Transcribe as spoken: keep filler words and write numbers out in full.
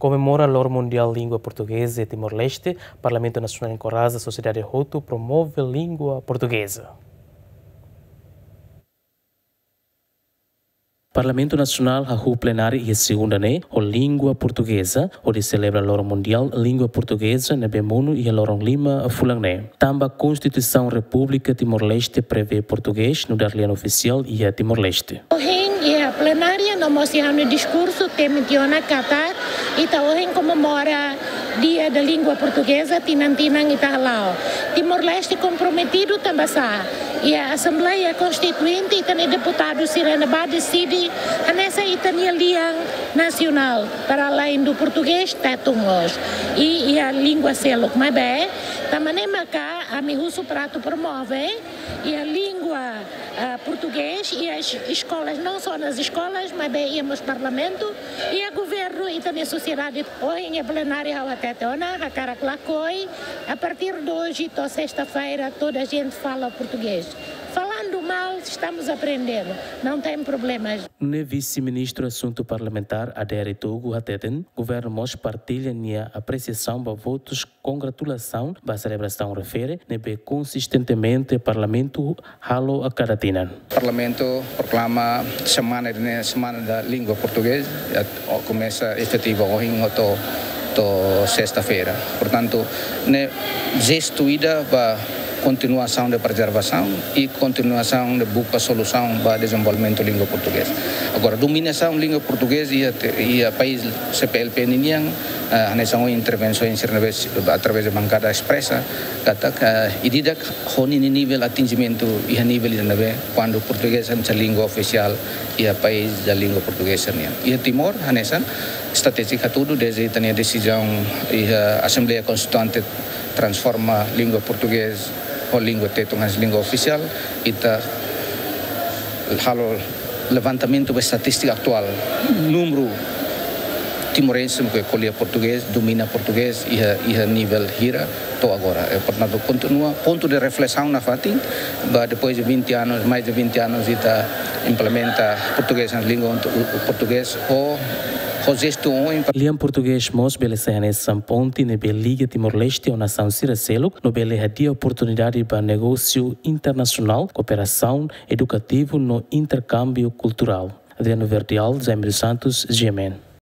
Komemora Loron Mundiál Língua Portugeza iha Timor-Leste, Parlamentu Nasionál enkoraja sosiedade hotu promove língua portugeza. Parlamentu Nasionál hahú plenária iha segunda ne'e ho língua portugeza, hodi selebra Loron Mundiál Língua Portugeza ne'ebé monu iha loron lima fulan ne'e. Tanba Konstituisaun Repúblika Timor-Leste prevee portugés nu'udar lian ofisiál iha Timor-Leste. Ohin iha plenária no mós iha ha'u-nia diskursu temi tiha ona katak ita ohin komemora Dia da Língua Portuguesa, tinan-tinan ita hala'o. Timor-Leste komprometidu tanba sá? Iha Asembleia Konstituinte ita-nia deputadu sira ne'ebá deside hanesan ita-nia lian nasionál, para além do português, tétun mós. I iha língua seluk, maibé tanba ne'e maka ami husu para atu promove iha língua, ah, portugés, iha es-, eskolas, não só nas escolas, maibé iha mós parlamentu, iha governu, ita-nia sosiedade. Ohin iha plenária ha'u hatete ona, hakarak lakohi, a partir de hoje to'o sexta-feira toda a gente fala português. Falando mal, estamos aprendendo, não tem problemas. Nune'e Vise-Ministru Asuntu Parlamentár Adair Itogu hateten, governu mós partilla nia apresiasaun ba votus kongratulasaun ba selebrasaun refere ne'ebé konsistentemente Parlamentu halo a kada tinan. Parlamentu proklama semana ne'e Semana da Língua Portuguesa, ya, o, komesa efetiva ohin to'o, to'o sexta-feira. Portantu, ne'e jestu ida ba kontinuasaun de prezervasaun i kontinuasaun de buka solusaun ba dezenvolvimentu língua portugeza. Agora, dominasaun língua portugeza iha te-, iha país C P L P ninian, eh, hanesan ohin intervensaun sira ne'ebé através de bankada espresa, katak, eh, ida-idak ho ninia nivel atinjimentu iha nivel ida ne'ebé, kuandu portugés hanesan língua ofisiál iha país da língua portugeza nian. Iha Timor, hanesan, estratéjia hatudu, desde ita-nia desizaun iha Asembleia Konstituinte transforma língua portugés ho língua tétun hanesan língua ofisiál, ita halo levantamentu ba estatístika atuál, númeru timorense ke ko'alia portugés, domina portugés, iha, iha nivel hira to'o agora. E, portantu, kontinua pontu de reflesaun nafatin, ba depois de vinte anos, mais de vinte anos, ita implementa portugés, língua portugés, ho, ho jestu ohin. Lian portugés mós bele sai hanesan ponte ne'ebé liga Timor-Leste ho nasaun sira seluk, no bele hadi'a oportunidade ba negósiu internasionál, kooperasaun edukativu no interkámbiu kulturál. Adriano Verdial, Jaime dos Santos, G M N.